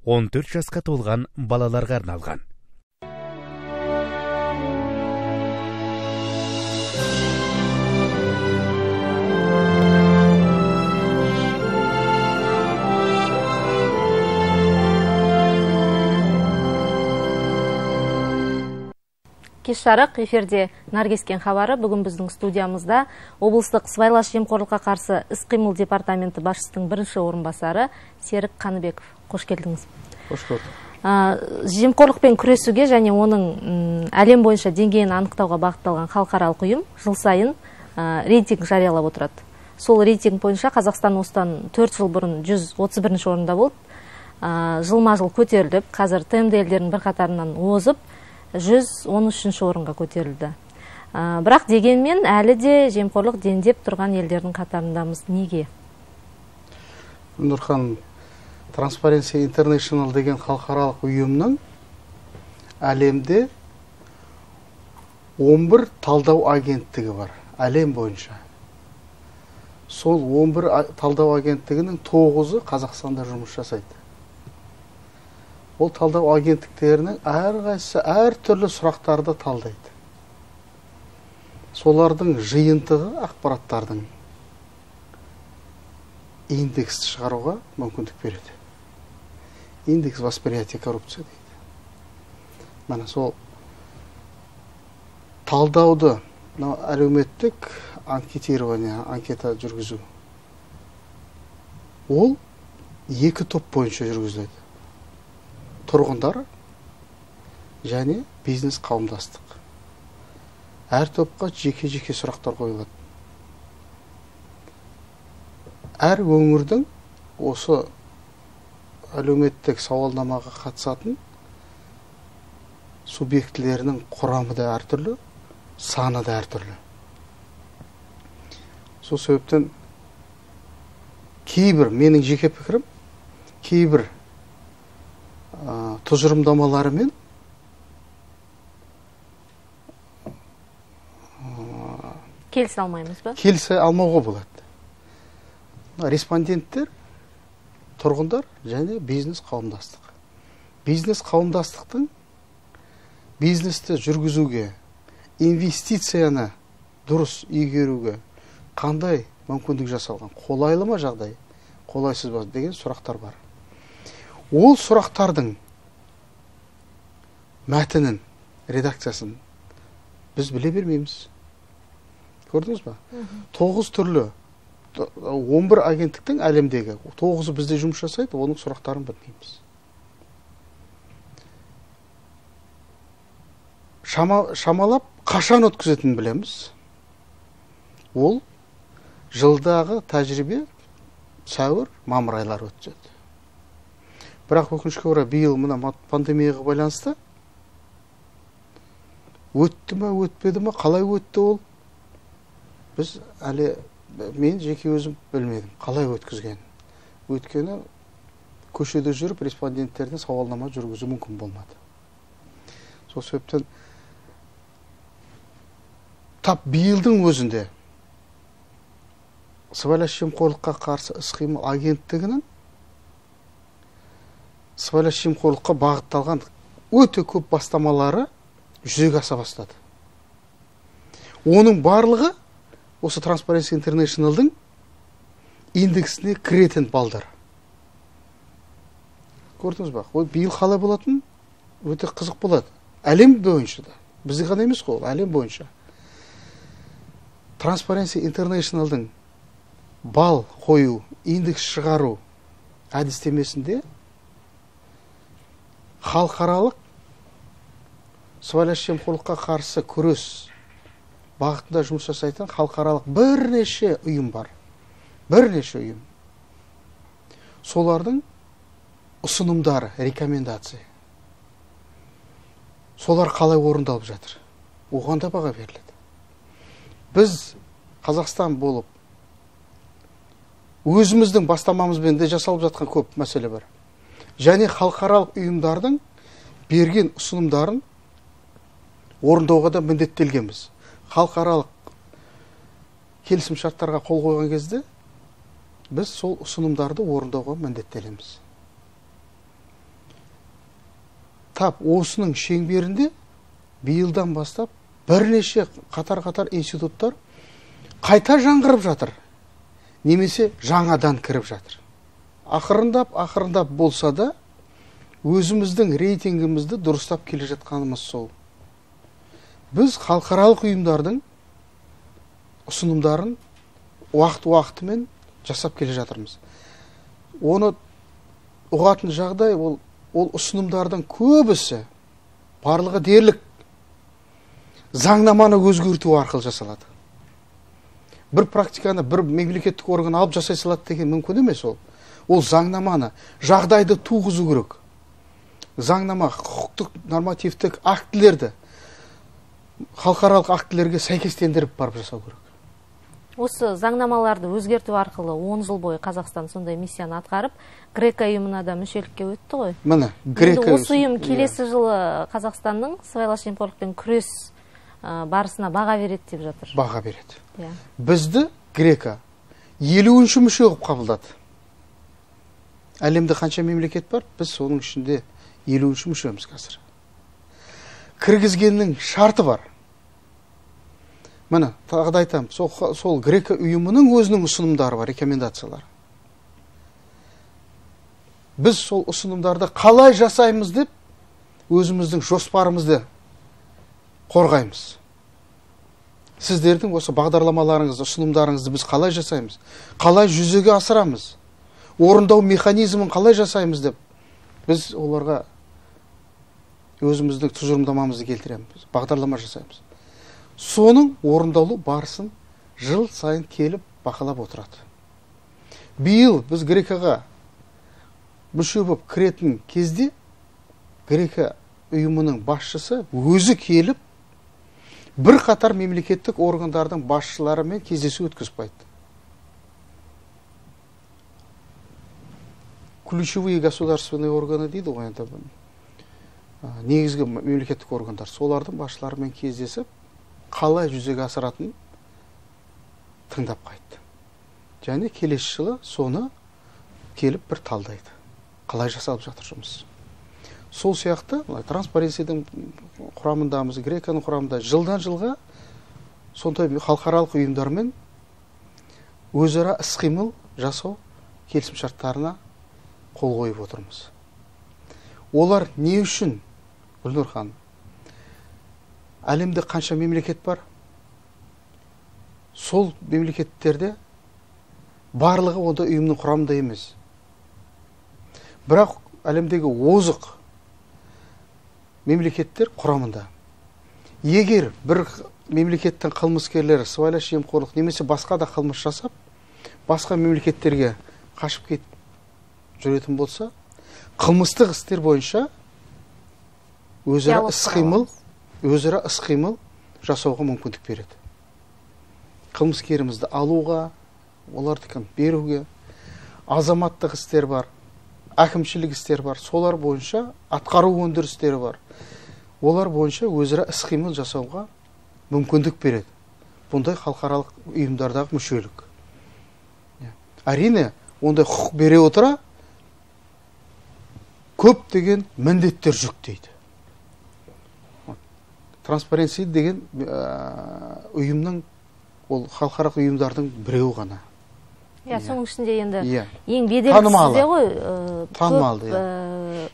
14 жасқа толған балаларға арналған. Кеш жарық эфирде Наркескен хабары. Бүгін біздің студиямызда облыстық сыбайлас жемқорлыққа қарсы іс-қимыл департаменті басшысының бірінші орынбасары Серік Қаныбеков. Қош келдіңіз. Қош көрдік. Жемқорлықпен күресуге және оның әлем бойынша деңгейін анықтауға бағытталған халықаралық ұйым жыл сайын рейтинг жариялап отырады. Сол рейтинг бойынша Қазақстан осыдан 4 жыл бұрын 131 орында болды. Жылма-жыл көтеріліп, қазір ТМД елдерінің бірқатарынан озып 113 орынға көтерілді. Бірақ дегенмен әлі де жемқорлық дендеп тұрған елдердің қатарындамыз. Неге? Нұрхан, Transparency International деген халықаралық ұйымның әлемде 11 талдау агенттігі бар, әлем бойынша. Сол 11 талдау агенттігінің 9-ы Қазақстанда жұмыс жасайды. Ол талдау агенттіктерінің әрқайсысы әртүрлі сұрақтарды талдайды. Солардың жиынтығы ақпараттардың индексті шығаруға мүмкіндік береді. Индекс восприятия коррупция дейді. Мәне сол талдауды, әлеуметтік анкетирование, анкета жүргізу. Ол 2 топ бойынша жүргізіледі. Тұрғындар және бизнес қауымдастық. Әр топқа жеке-жеке сұрақтар қойылады. Әр өңірдің осы әлеуметтік сауалнамаға қатысатын субъектілерінің құрамы да әртүрлі, саны да әртүрлі. Сол себептен кейбір, менің жеке пікірім, кейбір тұжырымдамаларымен келісе алмаймыз ба? Келісе алмауға болады. Респонденттер, тұрғындар және бизнес қауымдастық. Бизнес қауымдастықтың бизнесті жүргізуге, инвестицияны дұрыс игеруге қандай мүмкіндік жасалған? Қолайлы ма жағдай? Қолайсыз ба деген сұрақтар бар. Ол сұрақтардың мәтінін, редакциясын біз біле бермейміз. Көрдіңіз ба? 9 түрлі, 11 агенттіктің әлемдегі 9-ы бізде жұмыс жасайды, оның сұрақтарын білмейміз. Шамалап қашан өткізетінін білеміз. Ол жылдағы тәжірибе сәуір, мамыр айлары өтеді. Бірақ өкінішке орай биыл мына пандемияға байланысты өтті ме, өтпеді ме, қалай өтті ол? Біз әлі, мен жеке өзім білмедім, қалай өткізген. Өткені көшеде жүріп, респонденттеріне сауалнама жүргізу мүмкін болмады. Сол себептен тап биылдың өзінде сыбайлас жемқорлыққа қарсы іс-қимыл агенттігінің сыбайлас жемқорлыққа бағытталған өте көп бастамалары жүзеге аса бастады. Оның барлығы осы Transparency International'дың индексіне кіретін балдар. Көрдіңіз ба? Ол биыл қалай болатын? Өте қызық болады. Әлем бойынша да. Бізде ғана емес қой, әлем бойынша. Transparency International'дың бал қою, индекс шығару әдістемесінде халықаралық сыбайлас жемқорлыққа қарсы күрес бағытында жұмыс жасайтын халықаралық бірнеше ұйым бар. Бірнеше ұйым. Солардың ұсынымдары, рекомендация. Солар қалай орындалып жатыр? Оған да баға беріледі. Біз Қазақстан болып өзіміздің бастамамызбен де жасалып жатқан көп мәселе бар. Және халықаралық ұйымдардың берген ұсынымдарын орындауға да міндеттелгенбіз. Халықаралық келісім шарттарға қол қойған кезде біз сол ұсынымдарды орындауға міндеттелеміз. тап осының шеңберінде биылдан бастап бірнеше қатар институттар қайта жаңғырып жатыр, немесе жаңадан кіріп жатыр. Ақырындап болса да өзіміздің рейтингімізді дұрыстап келе жатқанымыз сол. Біз халықаралық ұйымдардың ұсынымдарын уақытымен жасап келе жатырмыз. Оны ұғатын жағдай ол ұсынымдардың көбісі барлығы дерлік заңнаманы өзгерту арқылы жасалады. Бір практиканы бір мемлекеттік орган алып жасай салады деген мүмкін емес ол. Ол заңнаманы, жағдайды туғызу керек. Заңнама, құқықтық нормативтік актілерді халықаралық актілерге сәйкестендіріп барып жасау керек. Осы заңнамаларды өзгерту арқылы 10 жыл бойы Қазақстан сондай миссияны атқарып, Грека ұйымына да мүшелікке өтті ғой. Міне, Грека осы ұйым келесі жылы Қазақстанның сыбайлас жемқорлықпен күрес барысына баға береді деп жатыр. Баға береді. Бізді Грека 50-ші мүше қылып қабылдады. Әлемде қанша мемлекет бар? Біз соның ішінде 50-ші мүшеміз қазір. Кіргізгеннің шарты бар. Міне, тағы да айтамын, сол Грека ұйымының өзінің ұсынымдары бар, рекомендациялар. Біз сол ұсынымдарды қалай жасаймыз деп, өзіміздің жоспарымызды қорғаймыз. Сіздердің осы бағдарламаларыңызды, ұсынымдарыңызды біз қалай жасаймыз? Қалай жүзеге асырамыз? Орындау механизмін қалай жасаймыз деп, біз оларға өзіміздің тұжырымдамамызды келтіреміз, бағдарлама жасаймыз. Соның орындалу барысын жыл сайын келіп бақылап отырады. Биыл біз Грекаға мүше болып кіретін кезде Грека ұйымының басшысы өзі келіп бір қатар мемлекеттік органдардың басшыларымен кездесу өткізіп қайтты. Ключевые государственные органы дейді ғой, енді негізгі мемлекеттік органдар, солардың басшыларымен кездесіп, қалай жүзеге асыратын тыңдап қайтты. Және келесі жылы соны келіп бір талдайды. Қалай жасалып жатыр жұмыс. Сол сияқты транспаренсидің құрамындамыз, Греканың құрамында жылдан жылға сондай халықаралық ұйымдармен өзара іс-қимыл жасау келісімшарттарына қол қойып отырмыз. Олар не үшін, Гүлнұр ханым? Әлемде қанша мемлекет бар? Сол мемлекеттерде барлығы онда ұйымның құрамында емес. Бірақ әлемдегі озық мемлекеттер құрамында. Егер бір мемлекеттің қылмыскерлері сыбайлас жемқорлық немесе басқа да қылмыс жасап, басқа мемлекеттерге қашып кетіп жүретін болса, қылмыстық істер бойынша өзара іс-қимыл жасауға мүмкіндік береді. Қылмыскерімізді алуға, оларды беруге, азаматтық істер бар, әкімшілік істер бар, солар бойынша атқару өндірістері бар. Олар бойынша өзара іс-қимыл жасауға мүмкіндік береді. Бұндай халықаралық ұйымдардағы мүшелік. Әрине, ондай құқық бере отыра көп деген міндеттер жүктейді. Транспаренси деген ұйымның, ол халықаралық ұйымдардың біреуі ғана. Соның ішінде енді ең беделдісі ғой,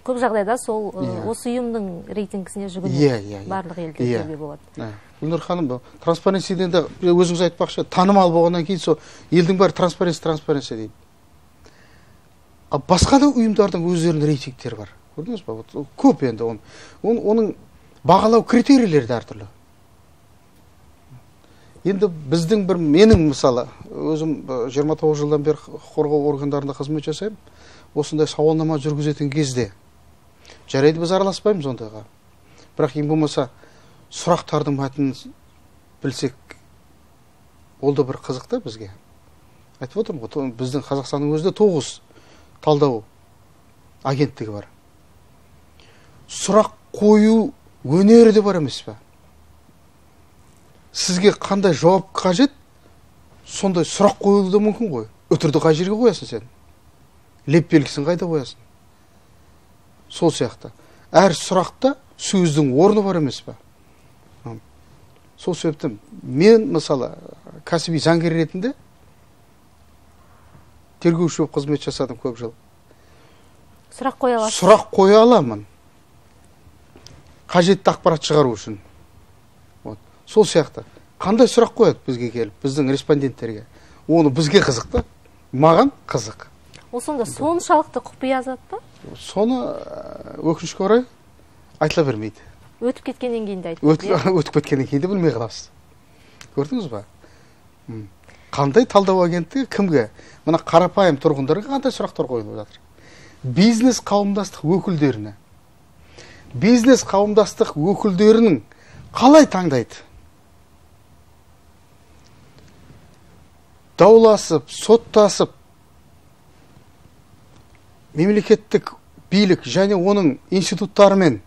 көп жағдайда сол осы ұйымның рейтингісіне жүгінеді барлық елдерде болады. Гүлнұр ханым, транспаренсиден де өзіңіз айтпақшы, танымал болғаннан кейін сол елдің бәрі транспаренси дейді. Басқа да ұйымдардың өздерінің рейтингтері бар. Көрдіңіз ба? Көп енді оның бағалау критерийлері әртүрлі. Енді біздің менің мысалы, өзім 29 жылдан бері қорғау органдарында қызмет жасаймын. Осындай сауалнама жүргізетін кезде жарайды, біз араласпаймыз ондайға. Бірақ ең болмаса сұрақтардың мәтінін білсек, ол да бір қызық та бізге. Айтып отырмын ғой, біздің Қазақстанның өзінде 9 талдау агенттігі бар. Сұрақ қою өнері де бар емес пе? Сізге қандай жауап қажет, сондай сұрақ қойылуы да мүмкін ғой. Үтірді қай жерге қоясың сен? Леп белгісін қайда қоясың? Сол сияқты. әр сұрақта сөздің орны бар емес па? Сол себептен мен мысалы кәсіби заңгер ретінде тергеуші болып қызмет жасадым көп жыл. Сұрақ қоя аласыз? Сұрақ қоя аламын. Қажетті ақпарат шығару үшін. Сол сияқты. Қандай сұрақ қояды бізге келіп, біздің респонденттерге? Оны бізге қызық та, маған қызық. Ол сонда соншалықты құпия зат па? Соны өкінішке орай айтыла бермейді. Өтіп кеткеннен кейін де айтып. Өтіп кеткеннен кейін де білмей қаласыз. Көрдіңіз ба? Қандай талдау агенттігі кімге? Мына қарапайым тұрғындарға қандай сұрақтар қойылып жатыр? Бизнес қауымдастық өкілдеріне. Бизнес қауымдастық өкілдерінің қалай таңдайды? Дауласып, соттасып, мемлекеттік билік және оның институттарымен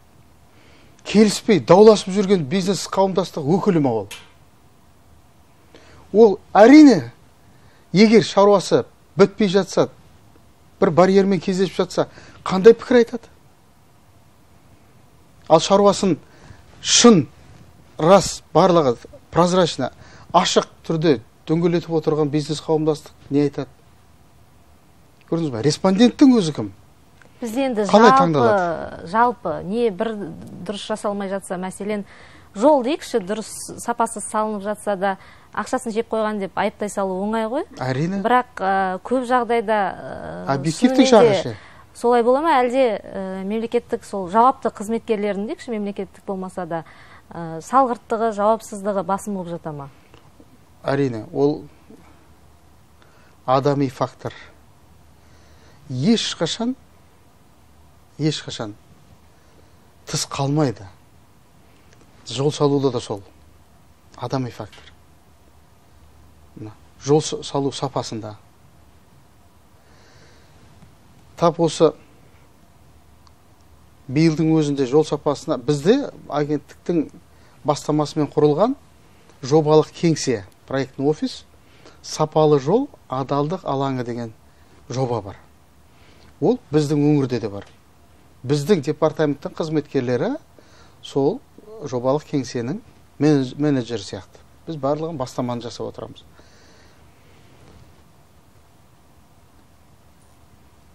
келіспей дауласып жүрген бизнес қауымдастық өкілі ме ол? Ол әрине, егер шаруасы бітпей жатса, бір барьермен кездесіп жатса, қандай пікір айтады? Ал шаруасын шын, рас, барлығы прозрачно, ашық түрде дөңгелетіп отырған бизнес қауымдастық не айтады? Көрдіңіз ба? Респонденттің өзі кім? Бізде енді жалпы не бір дұрыс жасалмай жатса, мәселен, жол дейікші, дұрыс сапасыз салынып жатса да, ақшасын жеп қойған деп айыптай салу оңай ғой. Әрине. Бірақ көп жағдайда объективтік жағы. Солай бола ма, әлде мемлекеттік сол жауапты қызметкерлердің дейікші, мемлекеттік болмаса да салғырттығы, жауапсыздығы басым болып жата ма? Әрине, ол адами фактор. Ешқашан тыс қалмайды. Жол салуда да сол. Адами фактор. Жол салу сапасында. Тап осы биылдың өзінде жол сапасына бізде агенттіктің бастамасымен құрылған жобалық кеңсе, проектный офис, сапалы жол, адалдық алаңы деген жоба бар. Ол біздің өңірде де бар. Біздің департаменттің қызметкерлері сол жобалық кеңсенің менеджері сияқты. Біз барлығын бастаманы жасап отырамыз.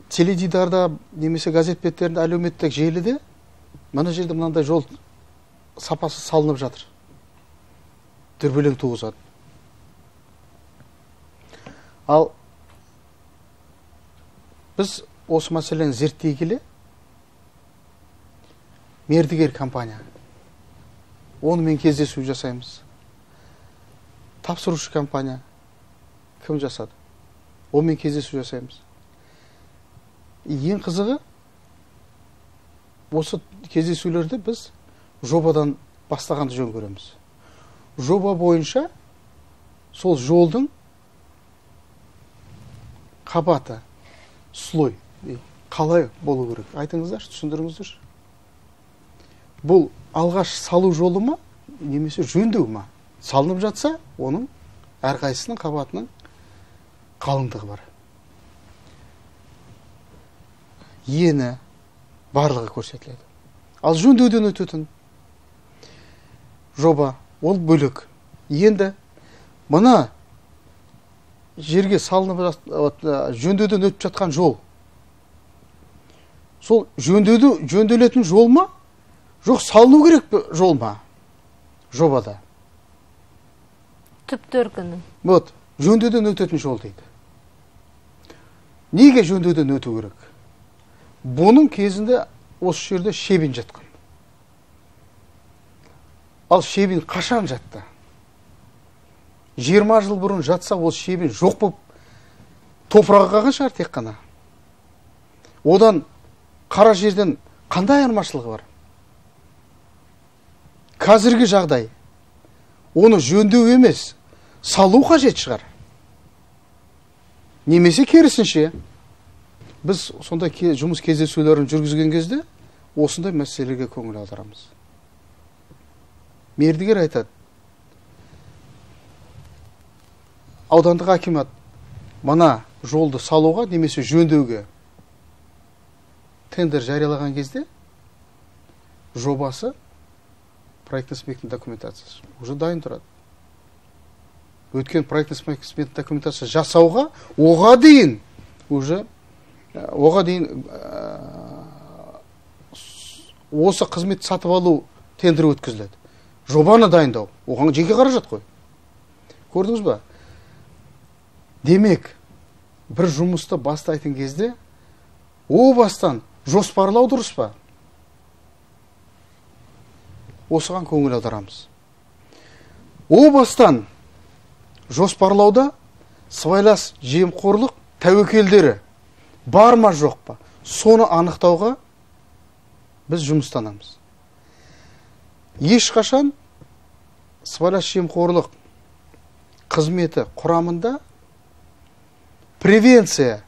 Теледидарда немесе газет беттерінде, әлеуметтік желіде мына жерде мынандай жол сапасы салынып жатыр. Дүрбелең туғызады. Ал біз осы мәселені зерттей келе, мердігер компания, онымен кездесу жасаймыз. Тапсырушы компания кім жасады? Онымен кездесу жасаймыз. Ең қызығы, осы кездесулерді біз жобадан бастағанды жөн көреміз. Жоба бойынша сол жолдың қабаты, слой қалай болу керек? Айтыңыздаршы, түсіндіріңіздерші. Бұл алғаш салу жолы ма, немесе жөндеу ма? Салынып жатса, оның әрқайсының қабатының қалыңдығы бар. Ені барлығы көрсетіледі. Ал жөндеуден өтетін жоба, ол бөлік. Енді мына жерге салынып жөндеуден өтіп жатқан жол. Сол жөнделетін жол ма? Жоқ, салыну керек жол ма? Жобада. Түп төркіні. Вот, жөндеуден өтетін жол дейді. Неге жөндеуден өту керек? Бұның кезінде осы жерде шебен жатқан. Ал шебен қашан жатты? 20 жыл бұрын жатса, ол шебен жоқ болып топырағы қалған шығар тек қана. Одан қара жерден қандай айырмашылығы бар? Қазіргі жағдай оны жөндеу емес, салу қажет шығар. Немесе керісінше, біз сондай жұмыс кездесулерін жүргізген кезде осындай мәселеге көңіл аударамыз. Мердігер айтады, аудандық акимат мына жолды салуға немесе жөндеуге тендер жариялаған кезде жобасы, проектно сметный документациясы уже дайын тұрады. Өткен проектно сметный документация жасауға, оға дейін осы қызметті сатып алу тендері өткізіледі. Жобаны дайындау, оған жеке қаражат қой. Көрдіңіз ба? Демек, бір жұмысты бастайтын кезде, о бастан жоспарлау дұрыс па? Осыған көңіл аударамыз. О бастан жоспарлауда сыбайлас жемқорлық тәуекелдері бар ма жоқ па? Соны анықтауға біз жұмыстанамыз. Ешқашан сыбайлас жемқорлық қызметі құрамында превенция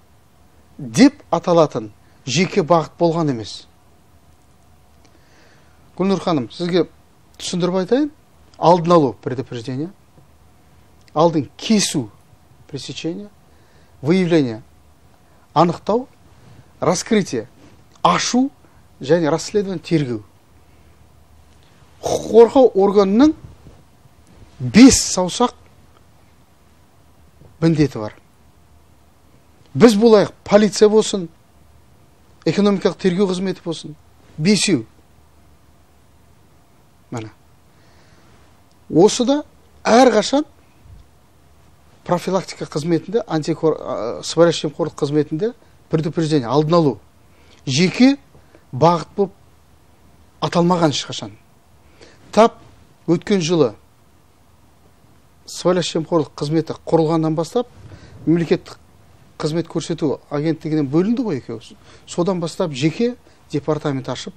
деп аталатын жеке бағыт болған емес. Гүлнұр ханым, сізге түсіндіріп айтайын. Алдын алу, предупреждение, алдын кесу, пресечение, выявление, анықтау, раскрытие, ашу және расследование, тергеу. Құқық қорғау органының 5 саусақ міндеті бар. Біз болайық, полиция болсын, экономикалық тергеу қызметі болсын, 5. Мәне. Осыда әрқашан профилактика қызметінде, сыбайлас жемқорлық қызметінде предупреждение, алдын алу, жеке бағыт болып аталмаған ешқашан. Тап өткен жылы сыбайлас жемқорлық қызметі құрылғаннан бастап, мемлекеттік қызмет көрсету агенттігінен бөлінді ғой екеуі. Содан бастап жеке департамент ашып,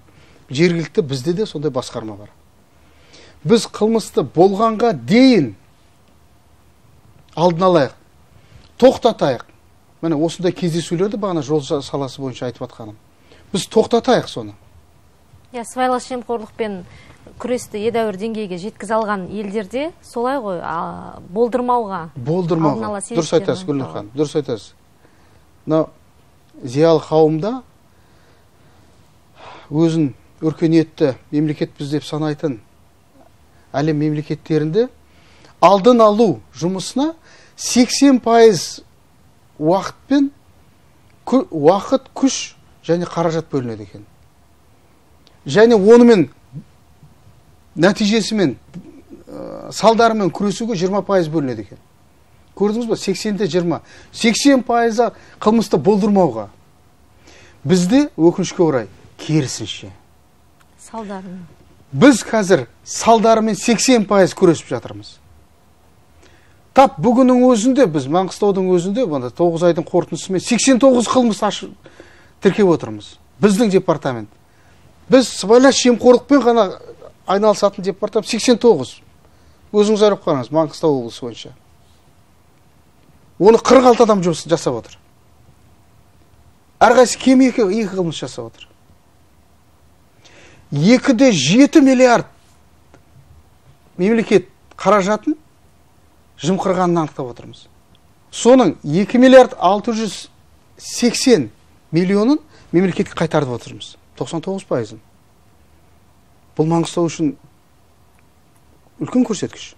жергілікті бізде де сондай басқарма бар. Біз қылмысты болғанға дейін алдын алайық, тоқтатайық. Міне осындай кездесулерді бағана жол саласы бойынша айтып атқаным. Біз тоқтатайық соны. Сыбайлас жемқорлықпен күресті едәуір деңгейге жеткізе алған елдерде солай ғой, болдырмауға. Дұрыс айтасыз, Гүлнұр ханым, дұрыс айтасыз. Зиялы қауымда өзін өркениетті мемлекетпіз деп санайтын әлем мемлекеттерінде алдын алу жұмысына 80% уақыт, күш және қаражат бөлінеді екен. Және онымен нәтижесімен, салдарымен күресуге 20% бөлінеді екен. Көрдіңіз ба? 80-де 20. 80% қылмысты болдырмауға. Бізде өкінішке орай керісінше. Салдарымен. Біз қазір салдарымен 80% күресіп жатырмыз. Тап бүгіннің өзінде, біз Маңғыстаудың өзінде, 9 айдың қорытындысымен 89 қылмыс тіркеп отырмыз. Біздің департамент. Біз сыбайлас жемқорлықпен ғана айналысатын департамент 89. Өзіңіз арып қараңыз, Маңғыстау облысы бойынша. Оны 46 адам жұмыс жасап отыр. Әрқайсысы кем 2 қылмыс жасап отыр. 2,7 миллиард мемлекет қаражатын жымқырғанын анықтап отырмыз. Соның 2 миллиард 680 миллионын мемлекетке қайтарып отырмыз. 99%. Бұл Маңғыстау үшін үлкен көрсеткіш.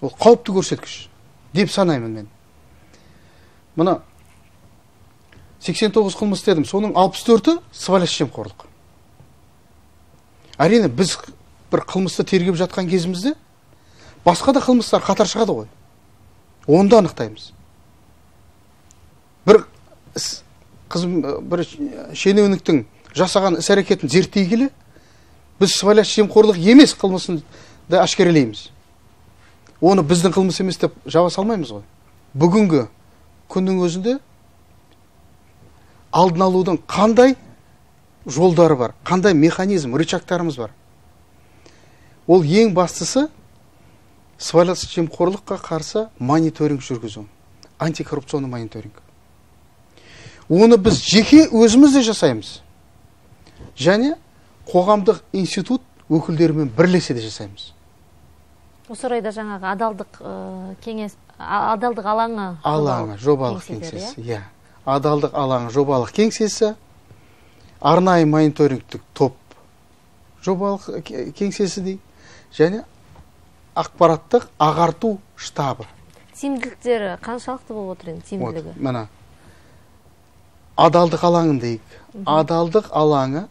Ол қауіпті көрсеткіш деп санаймын мен. Мына 89 қылмыс дедім, соның 64-і сыбайлас жемқорлық. Әрине, біз бір қылмысты тергеп жатқан кезімізде басқа да қылмыстар қатар шығады ғой. Онда анықтаймыз. Бір шенеуніктің жасаған іс-әрекетін зерттей келе, біз сыбайлас жемқорлық емес қылмысын да ашкерелейміз. Оны біздің қылмыс емес деп жаба салмаймыз ғой. Бүгінгі күннің өзінде алдын алудың қандай жолдары бар, қандай механизм, рычагтарымыз бар. Ол ең бастысы сыбайлас жемқорлыққа қарсы мониторинг жүргізу, антикоррупционный мониторинг. Оны біз жеке өзіміз де жасаймыз. Және қоғамдық институт өкілдерімен бірлесе де жасаймыз. Осы орайда жаңағы адалдық алаңы жобалық кеңсесі. Адалдық алаңы жобалық кеңсесі, арнайы мониторингтік топ жобалық кеңсесі дейді, және ақпараттық ағарту штабы. Тиімділіктері қаншалықты болып отыр енді тиімділігі? Мына адалдық алаңын дейік. Адалдық алаңы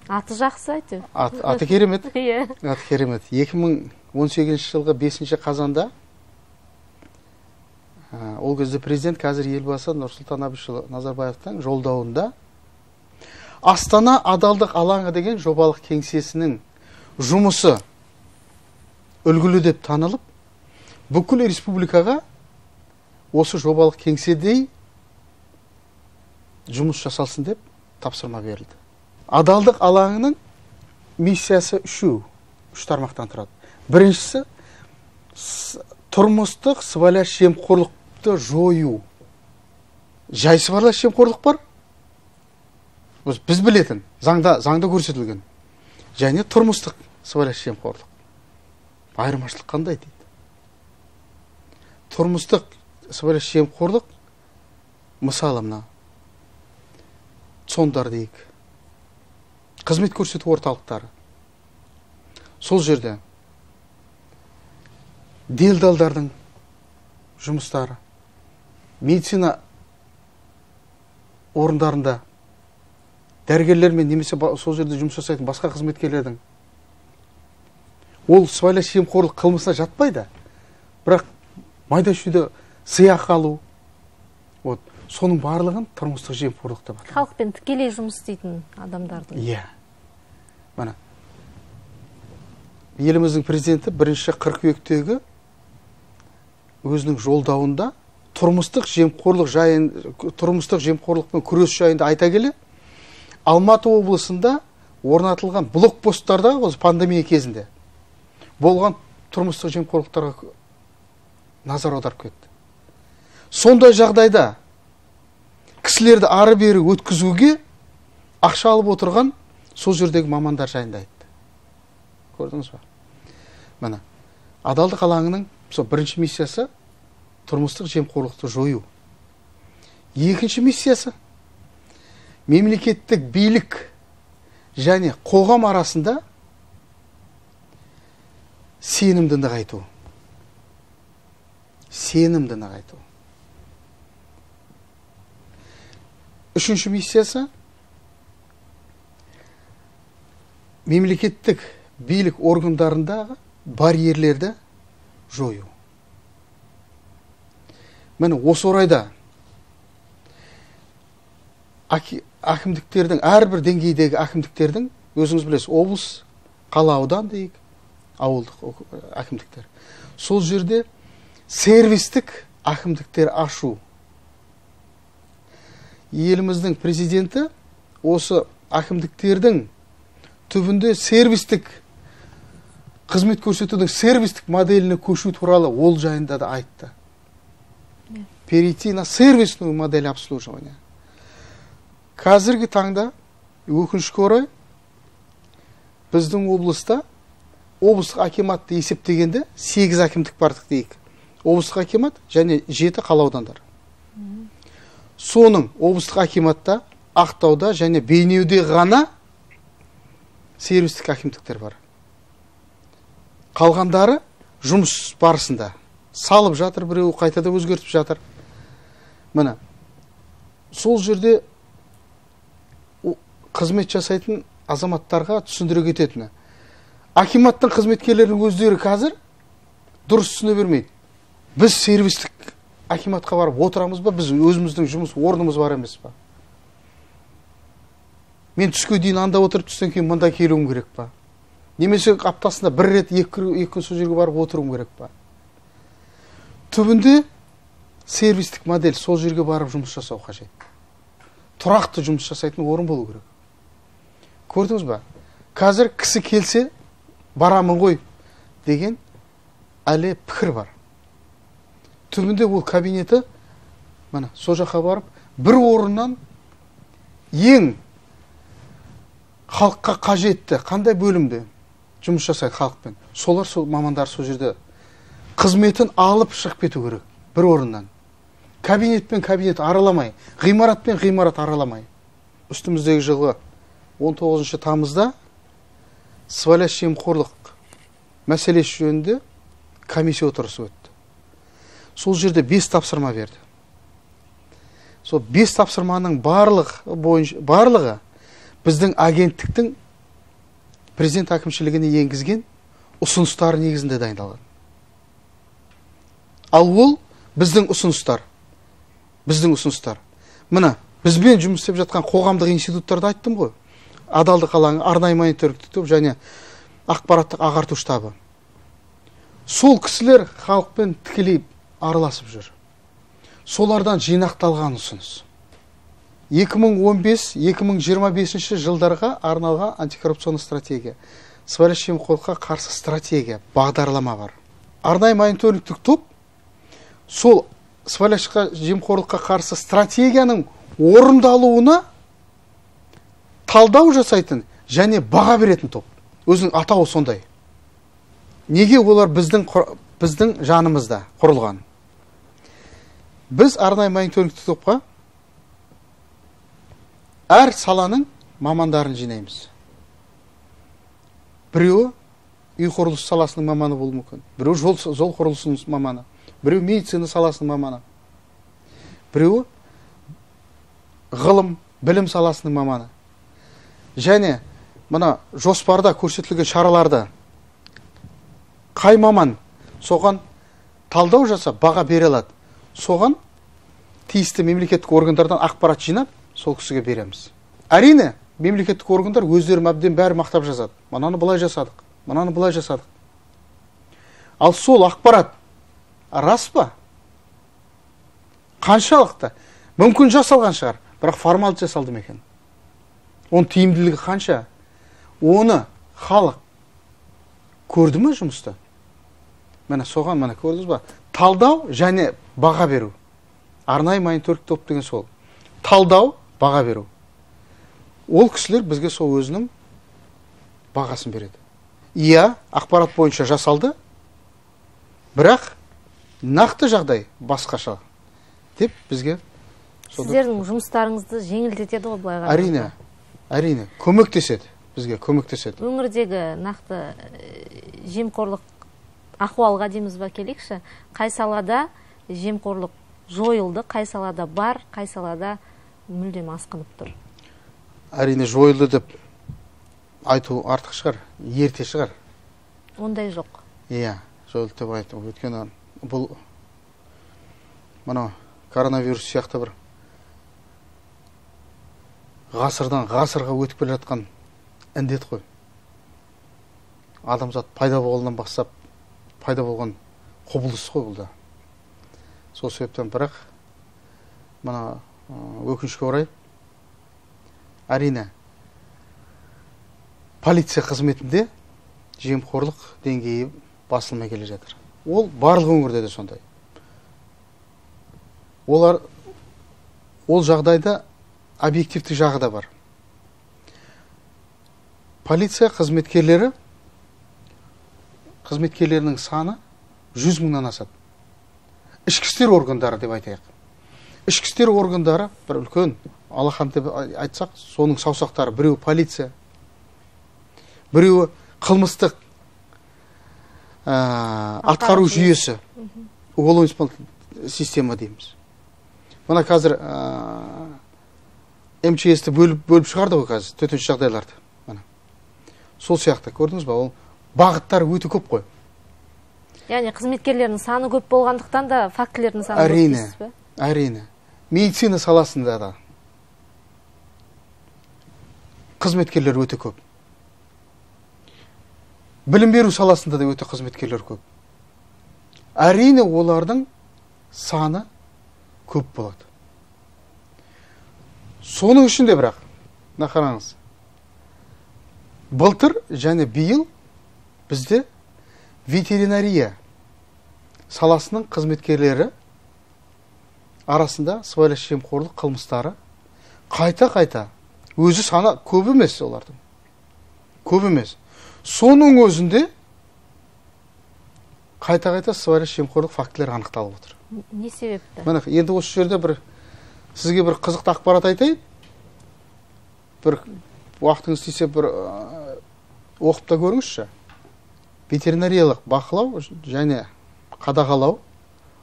аты жақсы әйтеуір. Аты керемет. Иә. Аты керемет. 2018 жылғы 5 қазанда ол кезде президент, қазір елбасы Нұрсұлтан Әбішұлы Назарбаевтың жолдауында Астана адалдық алаңы деген жобалық кеңсесінің жұмысы үлгілі деп танылып, бүкіл республикаға осы жобалық кеңседей жұмыс жасалсын деп тапсырма берілді. Адалдық алаңының миссиясы үш тармақтан тұрады. Біріншісі, тұрмыстық сыбайлас жемқорлықты жою. Жай сыбайлас жемқорлық бар, біз білетін, заңда көрсетілген. Және тұрмыстық сыбайлас жемқорлық. Айырмашылық қандай дейді? Тұрмыстық сыбайлас жемқорлық, мысалы мына сондар дейік, қызмет көрсету орталықтары. Сол жерде делдалдардың жұмыстары, медицина орындарында дәрігерлермен немесе сол жерде жұмыс жасайтын басқа қызметкерлердің ол сыбайлас жемқорлық қылмысына жатпайды, бірақ майда-шүйде сыйақы алу, соның барлығын тұрмыстық жемқорлық деп атайды. Халықпен тікелей жұмыс істейтін адамдардың. Иә. Мына еліміздің президенті 1 қыркүйектегі өзінің жолдауында тұрмыстық жемқорлықпен күрес жайында айта келе, Алматы облысында орнатылған блокпосттарда осы пандемия кезінде болған тұрмыстық жемқорлықтарға назар аударып кетті. Сондай жағдайда кісілерді ары бері өткізуге ақша алып отырған сол жердегі мамандар жайында айтты. Көрдіңіз ба? Мына адалдық алаңының бірінші миссиясы тұрмыстық жемқорлықты жою. Екінші миссиясы мемлекеттік билік және қоғам арасында сенімді нығайту. Үшінші миссиясы мемлекеттік билік органдарындағы барьерлерді жою. Міне осы орайда әкімдіктердің, әрбір деңгейдегі әкімдіктердің, өзіңіз білесіз, облыс, қала, аудан дейік, ауылдық әкімдіктер. Сол жерде сервистік әкімдіктер ашу. Еліміздің президенті осы әкімдіктердің түбінде сервистік қызмет көрсетудің сервистік моделіне көшу туралы ол жайында да айтты. Перейти на сервисную модель обслуживания. Қазіргі таңда өкінішке орай біздің облыста облыстық акиматты есептегенде 8 әкімдік бардық дейік. Облыстық акимат және 7 қала аудандар. Соның облыстық акиматта, Ақтауда және Бейнеуде ғана сервистік әкімдіктер бар. Қалғандары жұмыс барысында салып жатыр, біреу қайтада өзгертіп жатыр. Міне, сол жерде қызмет жасайтын азаматтарға түсіндіре кететіні. Акиматтың қызметкерлерінің өздері қазір дұрыс түсіне бермейді. Біз сервистік акиматқа барып отырамыз ба, біз өзіміздің жұмыс орнымыз бар емес па? Мен түске дейін анда отырып, түстен кейін мында келуім керек па? Немесе аптасында бір рет екі сол жерге барып отыруым керек па? Түбінде сервистік модель, сол жерге барып жұмыс жасау қажет. Тұрақты жұмыс жасайтын орын болу керек. Көрдіңіз ба? Қазір кісі келсе, барамын ғой деген әлі пікір бар. Түбінде ол кабинеті, мына, сол жаққа барып, бір орыннан ең халыққа қажетті, қандай бөлімде жұмыс жасайды халықпен. Солар, сол мамандар сол жерде қызметін алып шығып кету керек бір орыннан. Кабинетпен кабинет араламай, ғимаратпен ғимарат араламай. Үстіміздегі жылғы 19 тамызда сыбайлас жемқорлық мәселесі жөнінде комиссия отырысы өтті. Сол жерде 5 тапсырма берді. Сол 5 тапсырманың барлығы біздің агенттіктің президент әкімшілігіне енгізген ұсыныстар негізінде дайындалған. Ал ол біздің ұсыныстар. Мына, бізбен жұмыс істеп жатқан қоғамдық институттарды айттым ғой. Адалдық алаңы, арнайы мониторингтік топ және ақпараттық ағарту штабы. Сол кісілер халықпен тікелей араласып жүр. Солардан жинақталған ұсыныс. 2015-2025 жылдарға арналған антикоррупционный стратегия, сыбайлас жемқорлыққа қарсы стратегия, бағдарлама бар. Арнайы мониторингтік топ сол сыбайлас жемқорлыққа қарсы стратегияның орындалуына талдау жасайтын және баға беретін топ. Өзінің атауы сондай. Неге олар біздің жанымызда құрылған? Біз арнайы мониторингтік топқа әр саланың мамандарын жинаймыз. Біреуі үй құрылысы саласының маманы болуы мүмкін. Біреуі жол құрылысының маманы. Біреуі медицина саласының маманы. Біреуі ғылым, білім саласының маманы. Және мына жоспарда көрсетілген шараларды қай маман соған талдау жасап баға бере алады. Соған тиісті мемлекеттік органдардан ақпарат жинап, сол кісіге береміз. Әрине, мемлекеттік органдар өздері әбден бәрі мақтап жазады. Мынаны былай жасадық, мынаны былай жасадық. Ал сол ақпарат рас па? Қаншалықты? Мүмкін жасалған шығар, бірақ формалды жасалды ма екен? Оның тиімділігі қанша? Оны халық көрді ме жұмыста? Міне соған міне көрдіңіз ба? Талдау және баға беру. Арнайы мониторинг топ деген сол. Талдау, баға беру. Ол кісілер бізге сол өзінің бағасын береді. Иә, ақпарат бойынша жасалды, бірақ нақты жағдай басқаша деп бізге. Сіздердің жұмыстарыңызды жеңілдетеді ғой былай қарағанда. Әрине, көмектеседі, бізге көмектеседі. Өңірдегі нақты жемқорлық ахуалға дейміз ба келейікші, қай салада жемқорлық жойылды, қай салада бар, қай салада мүлдем асқынып тұр? Әрине жойылды деп айту артық шығар, ерте шығар. Ондай жоқ. Иә, жойылды деп айту. Өйткені бұл мына коронавирус сияқты бір ғасырдан ғасырға өтіп келе жатқан індет қой. Адамзат пайда болғаннан бастап пайда болған құбылыс қой бұл да. Сол себептен бірақ мына өкінішке орай әрине полиция қызметінде жемқорлық деңгейі басылмай келе жатыр. Ол барлық өңірде де сондай. Ол жағдайда объективті жағы да бар. Полиция қызметкерлерінің саны 100 мыңнан асады. Ішкі істер органдары деп айтайық. Ішкі істер органдары бір үлкен алақан деп айтсақ, соның саусақтары біреуі полиция, біреуі қылмыстық атқару жүйесі, уголовно-исполнительная система дейміз. Мына қазір МЧС-ті бөліп шығарды ғой қазір, төтенше жағдайларды. Сол сияқты, көрдіңіз ба, ол бағыттары өте көп қой. Яғни қызметкерлердің саны көп болғандықтан да фактілердің саны көп дейсіз бе? Әрине. Медицина саласында да қызметкерлер өте көп. Білім беру саласында да өте қызметкерлер көп. Әрине олардың саны көп болады. Соның ішінде бірақ, қараңыз, былтыр және биыл бізде ветеринария саласының қызметкерлері арасында сыбайлас жемқорлық қылмыстары қайта өзі саны көп емес олардың. Көп емес. Соның өзінде қайта сыбайлас жемқорлық фактілері анықталып отыр. Не себепті? Міне, енді осы жерде сізге бір қызықты ақпарат айтайын. Бір уақытыңыз тисе бір оқып та көріңізші. Ветеринариялық бақылау және қадағалау